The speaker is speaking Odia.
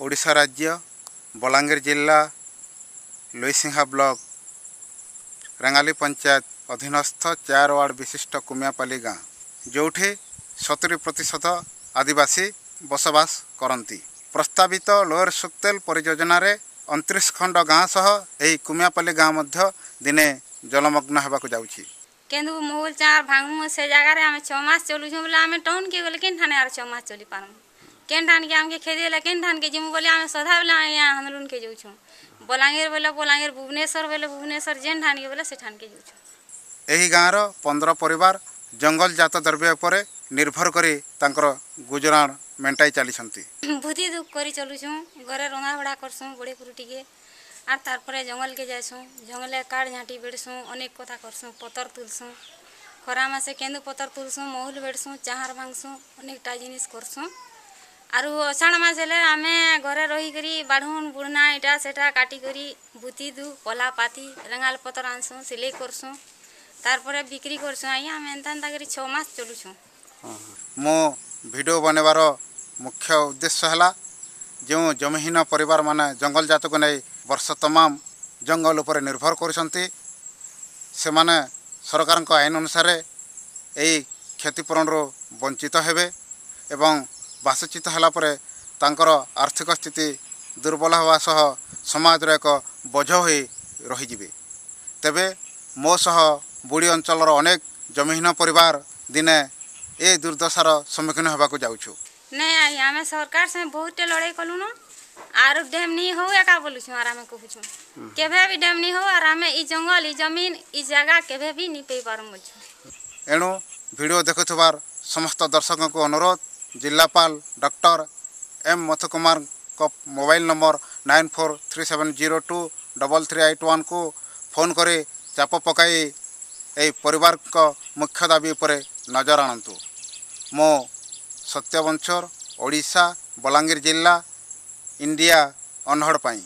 ଓଡ଼ିଶା ରାଜ୍ୟ ବଲାଙ୍ଗୀର ଜିଲ୍ଲା ଲୋଇସିଂହା ବ୍ଲକ ରେଙ୍ଗାଲି ପଞ୍ଚାୟତ ଅଧୀନସ୍ଥ 4 ୱାର୍ଡ଼ ବିଶିଷ୍ଟ କୁମିଆପାଲି ଗାଁ, ଯେଉଁଠି 70% ଆଦିବାସୀ ବସବାସ କରନ୍ତି। ପ୍ରସ୍ତାବିତ ଲୋୟର ସୁକ୍ତେଲ ପରିଯୋଜନାରେ 29 ଖଣ୍ଡ ଗାଁ ସହ ଏହି କୁମିଆପାଲି ଗାଁ ମଧ୍ୟ ଦିନେ ଜଳମଗ୍ନ ହେବାକୁ ଯାଉଛି। କେନ୍ଦୁ ମହୁଲ ଚାର ଭାଙ୍ଗମୁ, ସେ ଜାଗାରେ ଆମେ 6 ମାସ ଚଲୁଛୁଁ ବୋଲେ ଆମେ ଟାଉନ୍କେ ଗଲେ କେନ୍ ଠାନେ ଆର୍ 6 ମାସ ଚଲି ପାରମୁ? କେନ୍ ଠାନ୍କେ ଆମକେ ଖେଦି ହେଲେ କେନ୍ ଠାନ୍କେ ଯିମୁ ବୋଲି ଆମେ ସଦାବେଲେ ଆଜ୍ଞା ଆନ୍ଦୋଳନକେ ଯାଉଛୁଁ। ବଲାଙ୍ଗୀର ବୋଲେ ବଲାଙ୍ଗୀର, ଭୁବନେଶ୍ୱର ବୋଲେ ଭୁବନେଶ୍ୱର, ଯେନ୍ ଠାନ୍କେ ବୋଲେ ସେ ଠାନ୍କେ ଯାଉଛୁଁ। ଏହି ଗାଁର 15 ପରିବାର ଜଙ୍ଗଲ ଜାତ ଦ୍ରବ୍ୟ ଉପରେ ନିର୍ଭର କରି ତାଙ୍କର ଗୁଜୁରାଣ ମେଣ୍ଟାଇ ଚାଲିଛନ୍ତି। ବୁଦ୍ଧି ଦୁଃଖ କରି ଚଲୁଛୁଁ। ଘରେ ରନ୍ଧା ବଢ଼ା କରସୁଁ ବଡ଼ି ପୁରୁ ଟିକେ, ଆର୍ ତାର୍ପରେ ଜଙ୍ଗଲକେ ଯାଏସୁଁ। ଜଙ୍ଗଲେ କାଠ ଝାଣ୍ଟି ବେଢ଼ସୁଁ, ଅନେକ କଥା କରସୁଁ, ପତର ତୁଲସୁଁ। ଖରା ମାସେ କେନ୍ଦୁ ପତର ତୁଲସୁଁ, ମହୁଲ ବେଢ଼ସୁଁ, ଚାହାର ଭାଙ୍ଗସୁଁ, ଅନେକଟା ଜିନିଷ୍ କରସୁଁ। ଆରୁ ଅଷାଢ଼ ମାସ ହେଲେ ଆମେ ଘରେ ରହିକରି ବାଢ଼ୁନ୍ ବୁଢ଼ନା ଇଟା ସେଟା କାଟିକରି ବୁତି ଦୁ ପଲା ପାତି ରେଙ୍ଗାଲ ପତର ଆନସୁଁ, ସିଲେଇ କରସୁଁ, ତାର୍ପରେ ବିକ୍ରି କରସୁଁ। ଆଜ୍ଞା, ଆମେ ଏନ୍ତା ଏନ୍ତା କରି 6 ମାସ ଚଲୁଛୁଁ। ମୁଁ ଭିଡ଼ିଓ ବନେଇବାର ମୁଖ୍ୟ ଉଦ୍ଦେଶ୍ୟ ହେଲା, ଯେଉଁ ଜମିହୀନ ପରିବାରମାନେ ଜଙ୍ଗଲ ଜାତକୁ ନେଇ ବର୍ଷ ତମାମ ଜଙ୍ଗଲ ଉପରେ ନିର୍ଭର କରୁଛନ୍ତି, ସେମାନେ ସରକାରଙ୍କ ଆଇନ ଅନୁସାରେ ଏହି କ୍ଷତିପୂରଣରୁ ବଞ୍ଚିତ ହେବେ ଏବଂ ବାସଚ୍ୟୁତ ହେଲା ପରେ ତାଙ୍କର ଆର୍ଥିକ ସ୍ଥିତି ଦୁର୍ବଳ ହେବା ସହ ସମାଜର ଏକ ବୋଝ ହୋଇ ରହିଯିବେ। ତେବେ ମୋ ସହ ବୁଡ଼ି ଅଞ୍ଚଳର ଅନେକ ଜମିହୀନ ପରିବାର ଦିନେ ଏ ଦୁର୍ଦ୍ଦଶାର ସମ୍ମୁଖୀନ ହେବାକୁ ଯାଉଛୁ। ନାଇଁ ଆଜ୍ଞା, ଆମେ ସରକାର ସାଙ୍ଗେ ବହୁତଟେ ଲଢ଼େଇ କଲୁନ। ଆରୁ ଡ୍ୟାମ୍ ନି ହଉ ଏକା ବୋଲୁଛୁଁ। ଆର୍ ଆମେ କହୁଛୁଁ, କେଭେ ବି ଡ୍ୟାମ୍ ନି ହଉ, ଆର୍ ଆମେ ଇ ଜଙ୍ଗଲ, ଇ ଜମିନ, ଇ ଜାଗା କେଭେ ବି ନି ପାଇ ପାରମୁ ବୋଲୁଛୁଁ। ଏଣୁ ଭିଡ଼ିଓ ଦେଖୁଥିବାର ସମସ୍ତ ଦର୍ଶକଙ୍କୁ ଅନୁରୋଧ, ଜିଲ୍ଲାପାଳ ଡକ୍ଟର ଏମ୍ ମଥୁକୁମାରଙ୍କ ମୋବାଇଲ ନମ୍ବର 9437023381କୁ ଫୋନ୍ କରି ଚାପ ପକାଇ ଏହି ପରିବାରଙ୍କ ମୁଖ୍ୟ ଦାବି ଉପରେ ନଜର ଆଣନ୍ତୁ। ମୁଁ ସତ୍ୟ ବଂଶୋର, ଓଡ଼ିଶା, ବଲାଙ୍ଗୀର ଜିଲ୍ଲା, ଇଣ୍ଡିଆ ଅନହଡ଼ ପାଇଁ।